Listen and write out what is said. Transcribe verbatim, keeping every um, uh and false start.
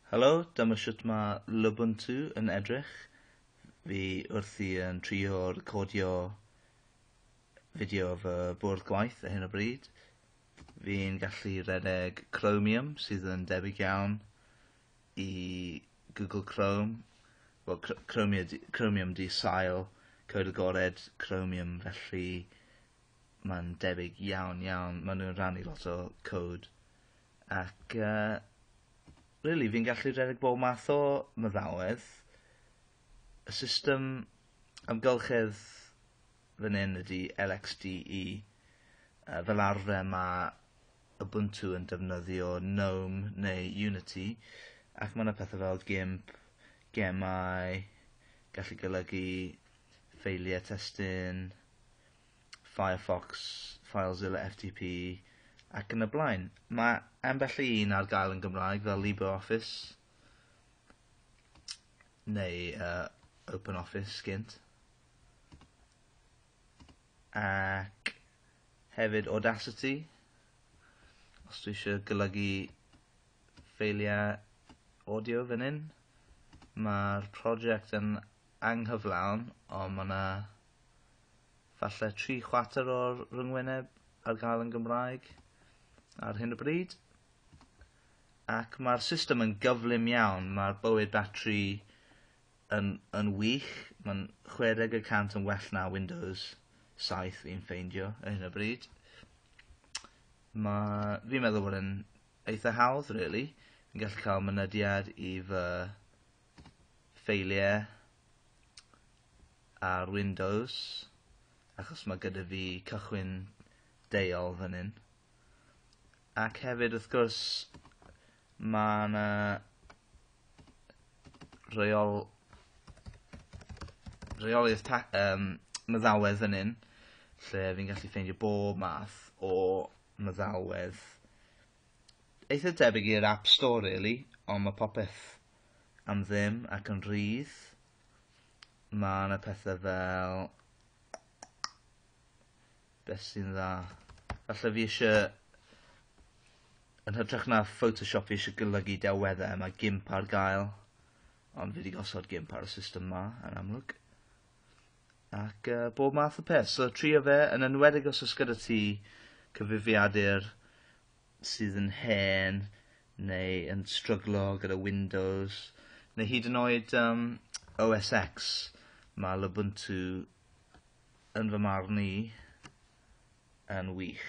Helo, dyma shwt mae Lubuntu yn edrych. Fi wrthi yn trio recordio fideo fy bwrdd gwaith ar hyn o bryd. Fi'n gallu redeg Chromium sydd yn debyg iawn i Google Chrome. Wel, Chromium, Chromium di sail cod agored Chromium, felly mae'n debyg iawn iawn. Maen nhw'n rhannu lot o code. Ac uh, really, fi'n gallu rhedeg bob math o meddalwedd. Y system amgylchedd fan hyn ydy L X D E. Uh, fel arfer mae Ubuntu yn defnyddio GNOME neu Unity, ac mae yna pethau fel GIMP, gemau, gallu golygu ffeiliau testun, Firefox, FileZilla F T P, ac yn y blaen. Mae ambell i un ar gael yn Gymraeg fel LibreOffice neu uh, OpenOffice gynt. Ac hefyd Audacity, os dwi eisiau golygu ffeiliau audio fan hyn. Mae'r prosiect yn anghyflawn, ond mae yna falle tri chwarter o'r rhyngwyneb ar gael yn Gymraeg ar hyn o bryd. Ac mae'r system yn gyflym iawn, mae'r bywyd batri yn, yn wych, mae'n chwe deg y cant yn well na Windows saith fi'n ffeindio ar hyn o bryd. Mae, fi'n meddwl bod yn eitha hawdd, really. Fi'n gallu cael mynediad i fy ffeiliau ar Windows, achos mae gyda fi cychwyn deuol fan hyn. Ac hefyd, wrth gwrs, mae yna reol, reoliaeth ta-, um, meddalwedd fan hyn, lle fi'n gallu ffeindio bob math o meddalwedd. Eitha debyg i'r App Store, really, ond mae popeth am ddim ac yn rhydd. Mae yna pethau fel... Beth sy'n dda? Falle fi eisiau... Yn hytrach na Photoshop fi eisiau golygu delweddau, mae GIMP ar gael. Ond fi wedi gosod GIMP ar y system ma, yn amlwg. Ac uh, bob math o peth. So trio fe, yn enwedig os oes gyda ti cyfrifiadur sydd yn hen, neu yn stryglo gyda Windows, neu hyd yn oed um, O S X, mae Lubuntu yn fy marn i yn wych.